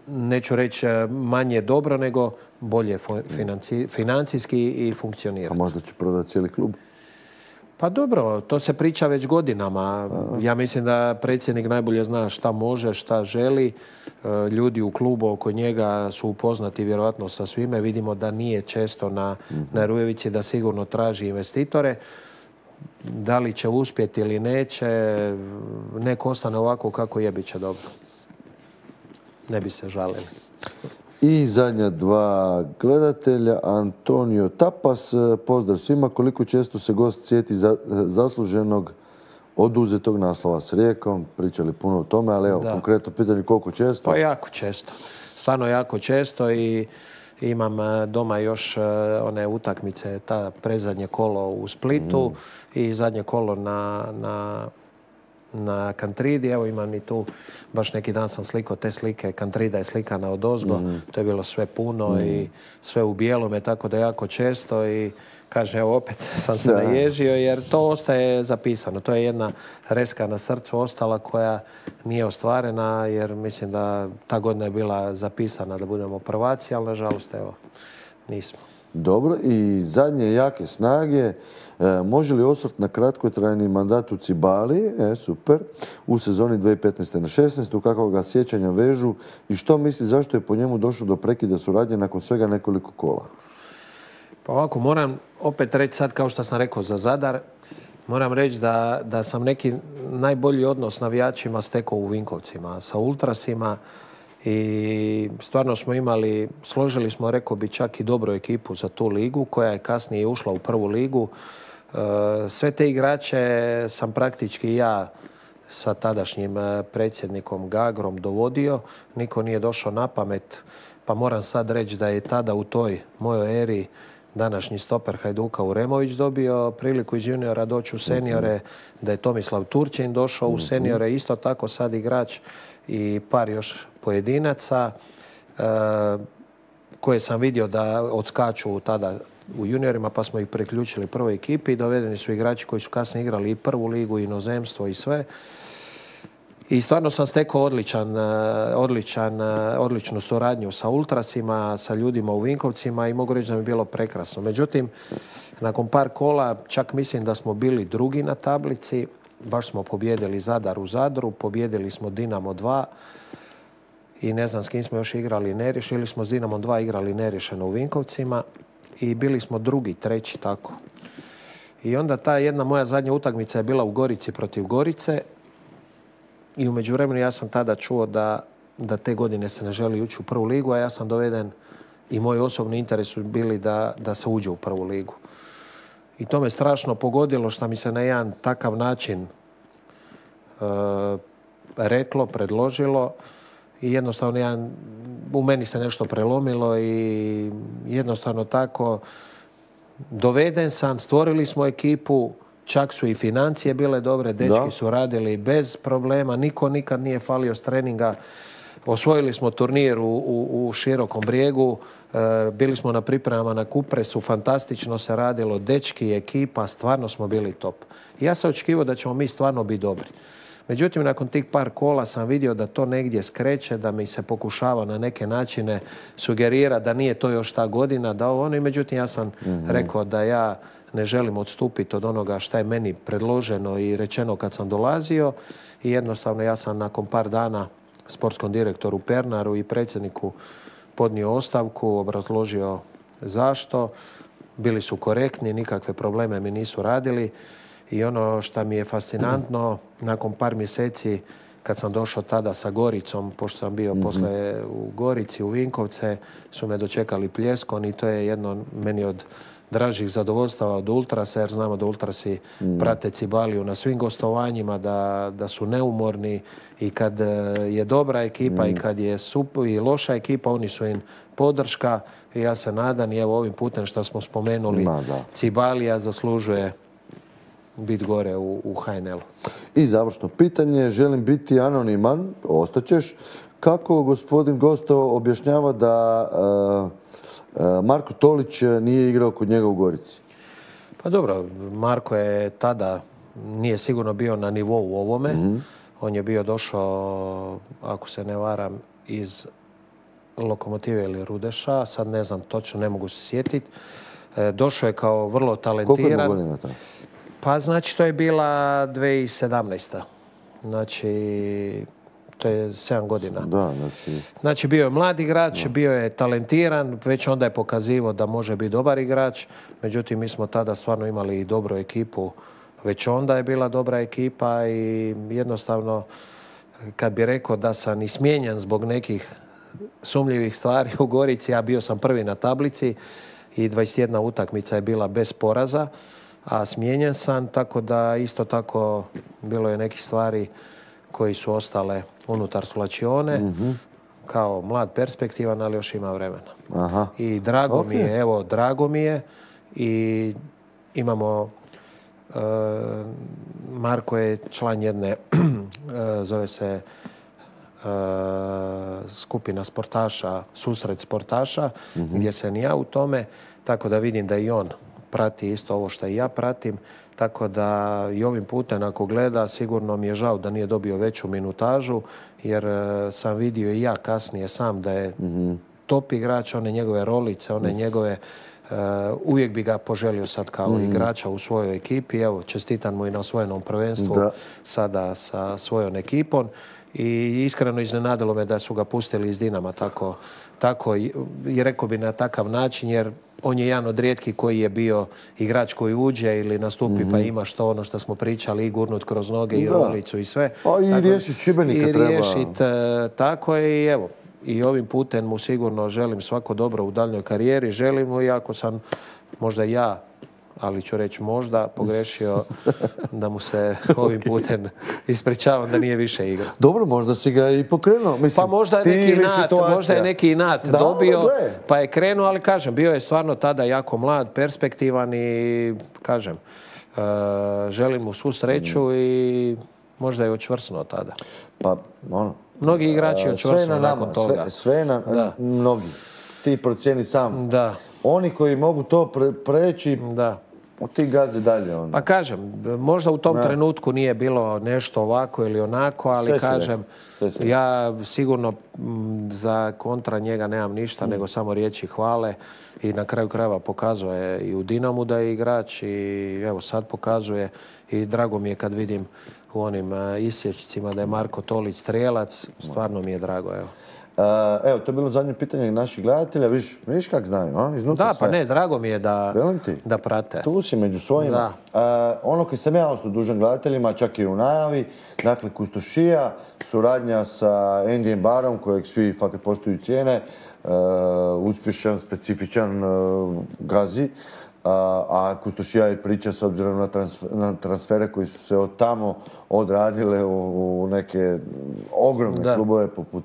neću reći manje dobro, nego bolje financi, financijski i funkcionirati. A možda će prodati cijeli klub? Pa dobro, to se priča već godinama. A. Ja mislim da predsjednik najbolje zna šta može, šta želi. Ljudi u klubu oko njega su upoznati vjerojatno sa svime. Vidimo da nije često na, mm-hmm. na Rujevici, da sigurno traži investitore. Da li će uspjeti ili neće, nek ostane ovako kako je, bit će dobro. Ne bi se žalili. I zadnja dva gledatelja, Antonio Tapas, pozdrav svima, koliko često se gost sjeti za, zasluženog oduzetog naslova s Rijekom, pričali puno o tome, ali evo, da. Konkretno pitanje koliko često? Pa jako često, stvarno jako često i imam doma još one utakmice, ta prezadnje kolo u Splitu mm. i zadnje kolo na... na na Kantridi. Evo imam i tu, baš neki dan sam slikao te slike, Kantrida je slikana odozgo, mm. to je bilo sve puno mm. i sve u bijelome, tako da jako često i kaže, evo opet sam se da. naježio jer to ostaje zapisano. To je jedna reska na srcu ostala koja nije ostvarena jer mislim da ta godina je bila zapisana da budemo prvaci, ali nažalost evo nismo. Dobro, i zadnje jake snage. E, može li osvrt na kratkotrajni mandat u Cibali, e, super, u sezoni dvije tisuće petnaeste na šesnaestu, kakvog ga sjećanja vežu i što misli zašto je po njemu došlo do prekida suradnje nakon svega nekoliko kola? Pa ovako, moram opet reći sad, kao što sam rekao za Zadar, moram reći da, da sam neki najbolji odnos s navijačima stekao u Vinkovcima, sa ultrasima i stvarno smo imali, složili smo, rekao bi, čak i dobru ekipu za tu ligu koja je kasnije ušla u prvu ligu. Sve te igrače sam praktički ja sa tadašnjim predsjednikom Gagrom dovodio. Niko nije došao na pamet, pa moram sad reći da je tada u toj mojoj eri današnji stoper Hajduka Uremović dobio priliku iz juniora doći u seniore, da je Tomislav Turčin došao u seniore, isto tako sad igrač i par još pojedinaca e, koje sam vidio da odskaču tada u juniorima, pa smo ih priključili prvoj ekipi i dovedeni su igrači koji su kasnije igrali i prvu ligu, i inozemstvo i sve. I stvarno sam stekao odličan, odličan, odličnu suradnju sa ultrasima, sa ljudima u Vinkovcima i mogu reći da mi je bilo prekrasno. Međutim, nakon par kola čak mislim da smo bili drugi na tablici. Baš smo pobjedili Zadar u Zadru, pobjedili smo Dinamo dva i ne znam s kim smo još igrali neriješeno. Ili smo s Dinamom dva igrali neriješeno u Vinkovcima i bili smo drugi, treći, tako. I onda ta jedna moja zadnja utakmica je bila u Gorici protiv Gorice i u međuvremenu ja sam tada čuo da, da te godine se ne želi ući u prvu ligu, a ja sam doveden i moj osobni interes su bili da, da se uđe u prvu ligu. I to me strašno pogodilo što mi se na jedan takav način e, reklo, predložilo i jednostavno ja, u meni se nešto prelomilo i jednostavno tako doveden sam, stvorili smo ekipu, čak su i financije bile dobre, dečki da. su radili bez problema, niko nikad nije falio s treninga. Osvojili smo turnir u, u, u Širokom Brijegu, e, bili smo na pripremama na Kupresu, fantastično se radilo, dečki, ekipa, stvarno smo bili top. I ja sam očekivao da ćemo mi stvarno biti dobri. Međutim, nakon tih par kola sam vidio da to negdje skreće, da mi se pokušava na neke načine sugerira da nije to još ta godina, da ovo ono. I međutim, ja sam mm-hmm. rekao da ja ne želim odstupiti od onoga šta je meni predloženo i rečeno kad sam dolazio. I jednostavno ja sam nakon par dana sportskom direktoru Pernaru i predsjedniku podnio ostavku, obrazložio zašto. Bili su korektni, nikakve probleme mi nisu radili. I ono što mi je fascinantno, nakon par mjeseci kad sam došao tada sa Goricom, pošto sam bio mm-hmm. posle u Gorici, u Vinkovce, su me dočekali pljeskom i to je jedno meni od dražih zadovoljstava od Ultrasa, jer znamo da Ultrasi mm. prate Cibaliju na svim gostovanjima, da, da su neumorni i kad je dobra ekipa mm. i kad je super i loša ekipa, oni su im podrška i ja se nadam i evo ovim putem što smo spomenuli, Ma, Cibalija zaslužuje biti gore u, u H N L-u. I završno pitanje, želim biti anoniman, ostaćeš. Kako gospodin Gosto objašnjava da uh, Marko Tolić nije igrao kod njega u Gorici? Pa dobro, Marko je tada, nije sigurno bio na nivou ovome. Mm-hmm. On je bio došao, ako se ne varam, iz Lokomotive ili Rudeša. Sad ne znam točno, ne mogu se sjetiti. E, došao je kao vrlo talentiran. Koliko je godina to? Pa znači to je bila dvije tisuće sedamnaesta. Znači to je sedam godina. Da, znači... Znači bio je mlad igrač, da. bio je talentiran, već onda je pokazivao da može biti dobar igrač. Međutim, mi smo tada stvarno imali i dobru ekipu. Već onda je bila dobra ekipa i jednostavno kad bi rekao da sam i smijenjen zbog nekih sumnjivih stvari u Gorici, ja bio sam prvi na tablici i dvadeset jedna utakmica je bila bez poraza, a smijenjen sam, tako da isto tako bilo je nekih stvari koji su ostale unutar svlačione, mm-hmm. kao mlad perspektivan, ali još ima vremena. Aha. I drago okay. mi je, evo, drago mi je i imamo, uh, Marko je član jedne, uh, zove se uh, skupina sportaša, susret sportaša, mm-hmm. gdje sam ja u tome, tako da vidim da i on prati isto ovo što i ja pratim. Tako da i ovim putem ako gleda, sigurno mi je žao da nije dobio veću minutažu, jer uh, sam vidio i ja kasnije sam da je mm-hmm. top igrač, one njegove rolice, one mm. njegove, uh, uvijek bi ga poželio sad kao mm. igrača u svojoj ekipi. Evo, čestitam mu i na osvojenom prvenstvu da. sada sa svojom ekipom. I iskreno iznenadilo me da su ga pustili iz Dinama tako, tako i rekao bi na takav način, jer on je jedan od rijetkih koji je bio igrač koji uđe ili nastupi mm-hmm. pa ima što ono što smo pričali i gurnut kroz noge i da. rolicu i sve. A i riješiti Šibenika treba. I riješiti uh, tako i evo. I ovim putem mu sigurno želim svako dobro u daljnjoj karijeri. Želim mu, iako sam možda ja, ali ću reći možda, pogrešio da mu se ovim putem ispričavam da nije više igra. Dobro, možda si ga i pokrenuo. Mislim, pa možda je neki inat, možda je neki inat da, dobio, pa je krenuo, ali kažem, bio je stvarno tada jako mlad, perspektivan i kažem, uh, želim mu svu sreću mm. i možda je očvrsnuo tada. Pa, ono... Mnogi igrači očvrsnuo nakon toga. Sve, sve na da. Mnogi. Ti procijeni sam. Da. Oni koji mogu to pre, preći, da. ti gaze dalje. Onda. Pa kažem, možda u tom da. trenutku nije bilo nešto ovako ili onako, ali sve kažem, sve sve. ja sigurno m, za kontra njega nemam ništa, mm. nego samo riječi hvale i na kraju krajeva pokazuje i u Dinamu da je igrač i evo sad pokazuje i drago mi je kad vidim u onim uh, isječcima da je Marko Tolić strijelac, stvarno mi je drago, evo. Uh, evo, to je bilo zadnje pitanje naših gledatelja. Viš, viš kak znaju, a? Iznutra da, sve. Pa ne, drago mi je da, da prate. Tu si među svojima. Uh, ono koji sam ja ostao dužan gledateljima, čak i u najavi, dakle, Kustošija, suradnja sa Andyjem Barom, kojeg svi fakat poštuju cijene, uh, uspješan, specifičan uh, gazi. a Kustošija je priča s obzirom na, transfer, na transfere koji su se od tamo odradile u, u neke ogromne da. klubove poput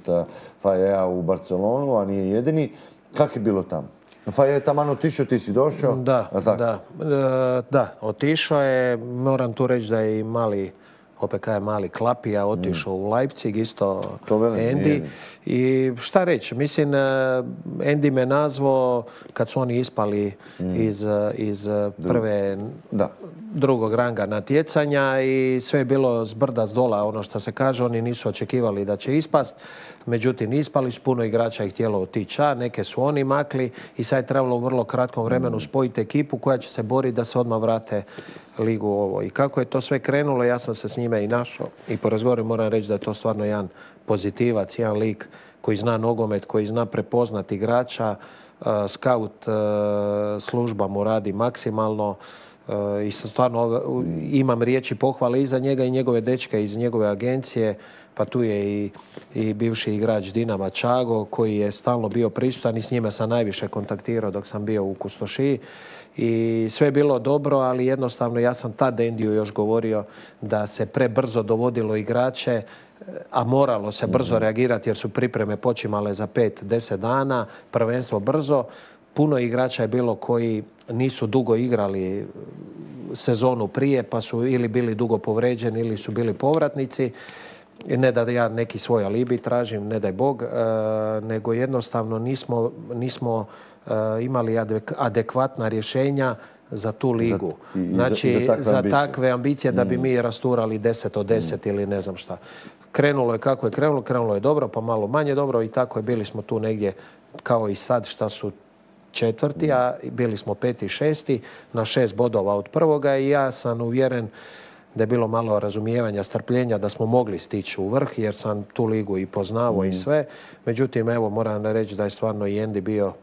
Fajeja u Barcelonu, a nije jedini. Kako je bilo tamo? Faje je tamo otišao, ti si došao? Da, da, e, da, otišao je. Moram tu reći da je i mali O P K je mali Klapija otišao mm. u Leipzig, isto Andy. I šta reći, mislim, Andy me nazvao kad su oni ispali mm. iz, iz prve, da. drugog ranga natjecanja i sve je bilo s brda s dola, ono što se kaže, oni nisu očekivali da će ispast. Međutim, ispali su, puno igrača je htjelo otići, a neke su oni makli i sad je trebalo u vrlo kratkom vremenu spojiti ekipu koja će se boriti da se odmah vrate ligu ovo. I kako je to sve krenulo, ja sam se s njime i našao i po razgovoru moram reći da je to stvarno jedan pozitivac, jedan lik koji zna nogomet, koji zna prepoznati igrača, uh, scout uh, služba mu radi maksimalno. Uh, i stvarno imam riječi pohvale i za njega i njegove dečke iz njegove agencije, pa tu je i, i bivši igrač Dinama Čago koji je stalno bio prisutan i s njime sam najviše kontaktirao dok sam bio u Kustošiji. I sve je bilo dobro, ali jednostavno ja sam tad Endiju još govorio da se prebrzo dovodilo igrače, a moralo se brzo reagirati jer su pripreme počimale za pet, deset dana, prvenstvo brzo. Puno igrača je bilo koji nisu dugo igrali sezonu prije, pa su ili bili dugo povređeni ili su bili povratnici. Ne da ja neki svoj alibi tražim, ne daj Bog, nego jednostavno nismo, nismo imali adekvatna rješenja za tu ligu. Za, znači, za, za, takve, za ambicije. takve ambicije da bi mm. mi rasturali deset od deset mm. ili ne znam šta. Krenulo je kako je krenulo, krenulo je dobro, pa malo manje dobro i tako je. Bili smo tu negdje kao i sad šta su četvrti, a bili smo peti i šesti na šest bodova od prvoga i ja sam uvjeren da je bilo malo razumijevanja, strpljenja da smo mogli stići u vrh jer sam tu ligu i poznavao mm. i sve. Međutim, evo moram reći da je stvarno i Andy bio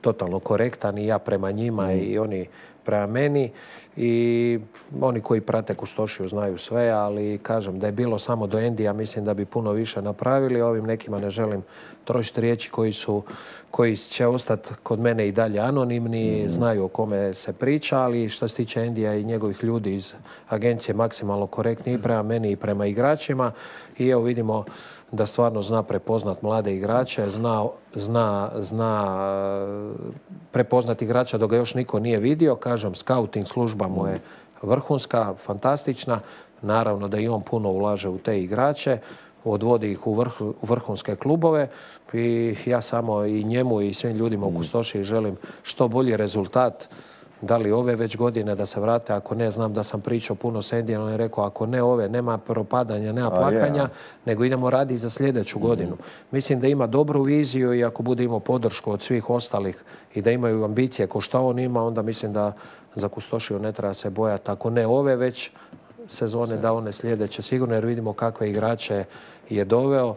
totalno korektan i ja prema njima mm. i oni prema meni i oni koji prate Kustošiju znaju sve, ali kažem da je bilo samo do Endija, mislim da bi puno više napravili. Ovim nekima ne želim trošiti riječi koji su, koji će ostati kod mene i dalje anonimni, mm. znaju o kome se priča, ali što se tiče Endija i njegovih ljudi iz agencije maksimalno korektni i prema meni i prema igračima. I evo vidimo da stvarno zna prepoznat mlade igrače, zna, zna, zna prepoznat igrača dok ga još niko nije vidio. Kažem, scouting služba mu je vrhunska, fantastična. Naravno da i on puno ulaže u te igrače, odvodi ih u, vrh, u vrhunske klubove i ja samo i njemu i svim ljudima u Kustošiji želim što bolji rezultat. Da li ove već godine da se vrate, ako ne, znam da sam pričao puno s Endijem, on je rekao ako ne ove, nema propadanja, nema plakanja, A, yeah. nego idemo raditi za sljedeću mm-hmm. godinu. Mislim da ima dobru viziju i ako bude imao podršku od svih ostalih i da imaju ambicije ko što on ima, onda mislim da za Kustošiju ne treba se bojati. Ako ne ove već sezone, da one sljedeće sigurno, jer vidimo kakve igrače je doveo.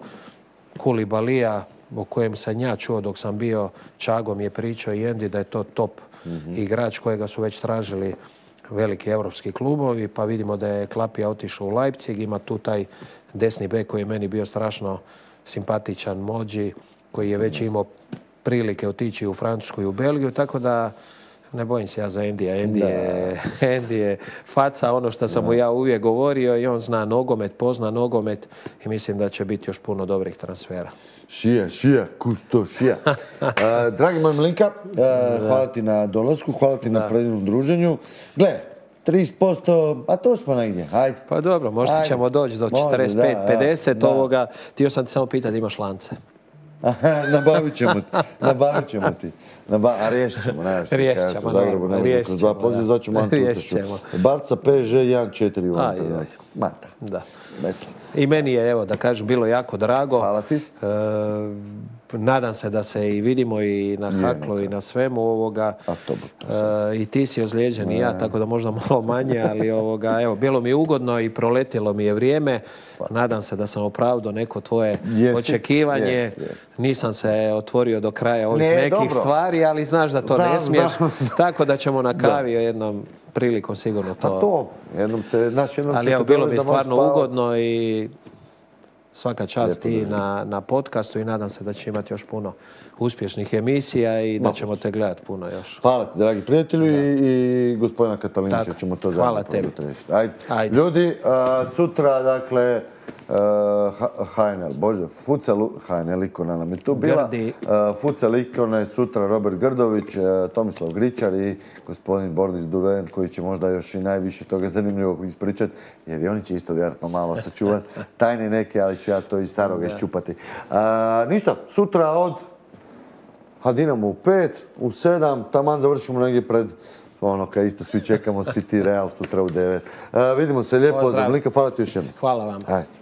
Kulibalija, o kojem sam ja čuo dok sam bio, Čagom je pričao i Endi da je to top mm-hmm. igrač kojega su već tražili veliki europski klubovi, pa vidimo da je Klapija otišao u Leipzig, ima tu taj desni bek koji je meni bio strašno simpatičan, Mođi, koji je već imao prilike otići u Francusku i u Belgiju, tako da ne bojim se ja za Endija. Endi je, Endi je faca, ono što sam mu ja uvijek govorio i on zna nogomet, pozna nogomet i mislim da će biti još puno dobrih transfera. Šija, šija, Kustošija. uh, dragi moj Milinka, uh, hvala ti na dolasku, hvala ti da. na predivnom druženju. Gle, trideset posto, a to smo negdje, hajde. Pa dobro, možda Ajde. ćemo doći do četrdeset pet pedeset da, ovoga. Htio sam ti samo pitati, imaš lance? Nabavit ćemo ti, nabavit ćemo ti. Naba, a riješit ćemo, ne što riješit ćemo, u Zagrebu ne možemo kroz dva poziva, zato ću Mantu Ustašu. Barca, P S G, jedan četiri u ovom trenutku. Mata. Da. I meni je, evo, da kažem, bilo jako drago. Hvala ti. E, nadam se da se i vidimo i na Haklu i na svemu ovoga. A to to e, I ti si ozlijeđen i ja, tako da možda malo manje, ali ovoga, evo, bilo mi je ugodno i proletilo mi je vrijeme. Nadam se da sam opravdao neko tvoje Jesi. očekivanje. Yes, yes. Nisam se otvorio do kraja ovih ne, nekih dobro. stvari, ali znaš da to znam, ne smiješ. Znam, znam. Tako da ćemo na kavi jednom prilikom sigurno to. A to, jednom te, naš jednom ali evo, bilo mi je stvarno ugodno i svaka čast i na, na podcastu i nadam se da će imati još puno uspješnih emisija i da Ma, ćemo te gledati puno još. Hvala ti, dragi prijatelju, i, i gospodina Katalinića Tako, ćemo to hvala zajedno tebi. probati riješiti. Ajde. Ajde. Ljudi, a, sutra, dakle, H N L, bože, Futsal, H N L ikona nam je tu bila. Grdi. A, Futsal ikona je sutra Robert Grdović, a, Tomislav Gričar i gospodin Boris Duren, koji će možda još i najviše toga zanimljivog ispričati, jer i oni će isto vjerojatno malo sačuvati tajne neke, ali ću ja to iz staroga iščupati. A, ništa, sutra od a Dinamo u pet, u sedam, taman završimo negdje pred ono kad isto svi čekamo City Real sutra u devet. Uh, vidimo se lijepo, Dominika, hvala ti još jednom. Hvala vam. Ajde.